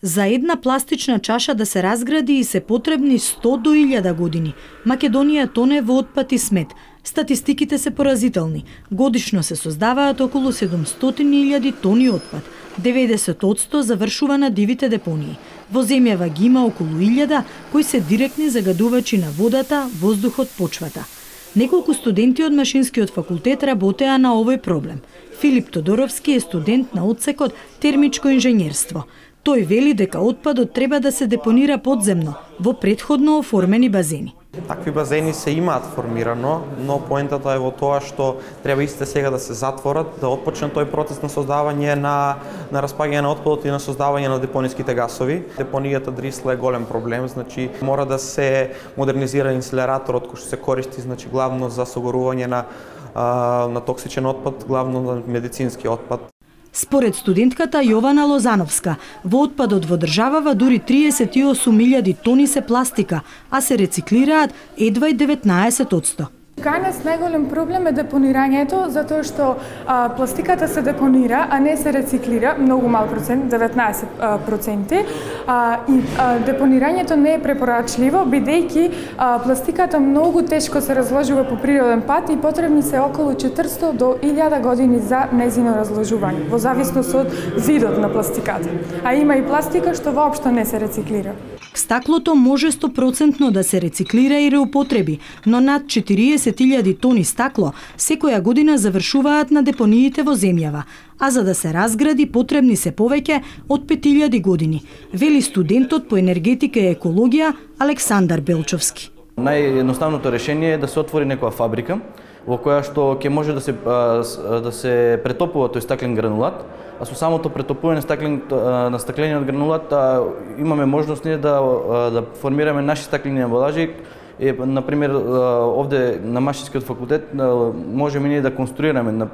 За една пластична чаша да се разгради и се потребни 100 до 1000 години. Македонија тоне во отпад и смет. Статистиките се поразителни. Годишно се создаваат околу 700.000 тони отпад. 90% завршува на дивите депонии. Во земјава ги има околу 1000 кои се директни загадувачи на водата, воздухот, почвата. Неколку студенти од Машинскиот факултет работеа на овој проблем. Филип Тодоровски е студент на одсекот термичко инженерство. Тој вели дека отпадот треба да се депонира подземно, во предходно оформени базени. Такви базени се имаат формирано, но поентата е во тоа што треба истите сега да се затворат, да отпочне тој процес на создавање на распаѓање на отпадот и на создавање на депониските гасови. Депонијата Дрисла е голем проблем, значи мора да се модернизира инсинераторот кој што се користи главно за согорување на токсичен отпад, главно на медицински отпад. Според студентката Јована Лозановска, во отпадот во државава дури 38.000 тони се пластика, а се рециклираат едва и 19%. Кај нас најголем проблем е депонирањето, затоа што пластиката се депонира, а не се рециклира, многу мал процент, 19%, и депонирањето не е препорачливо, бидејќи пластиката многу тешко се разложува по природен пат и потребни се околу 400 до 1000 години за незино разложување, во зависност од видот на пластиката. А има и пластика што воопшто не се рециклира. Стаклото може 100% да се рециклира и реупотреби, но над 40.000 тони стакло секоја година завршуваат на депониите во земјава, а за да се разгради потребни се повеќе од 5000 години, вели студентот по енергетика и екологија Александар Белчовски. Наједноставното решение е да се отвори некоја фабрика во која што ќе може да се претопува тој стаклен гранулат, а со самото претопување на стаклениот гранулат имаме можност ние да формираме наши стаклени амбалажи. Например, овде на Машинскиот факултет можеме ние да конструираме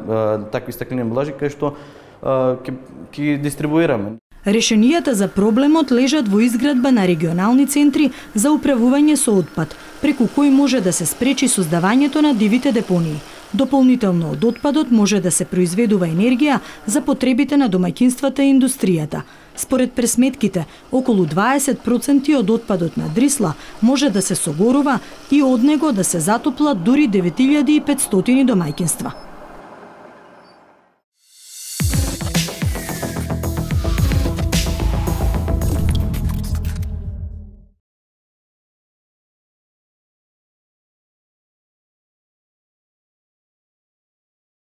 такви стаклени амбалажи кај што ќе дистрибуираме. Решенијата за проблемот лежат во изградба на регионални центри за управување со отпад, преку кои може да се спречи создавањето на дивите депонии. Дополнително од отпадот може да се произведува енергија за потребите на домаќинствата и индустријата. Според пресметките, околу 20% од отпадот на Дрисла може да се согорува и од него да се затоплат дури 9500 домаќинства.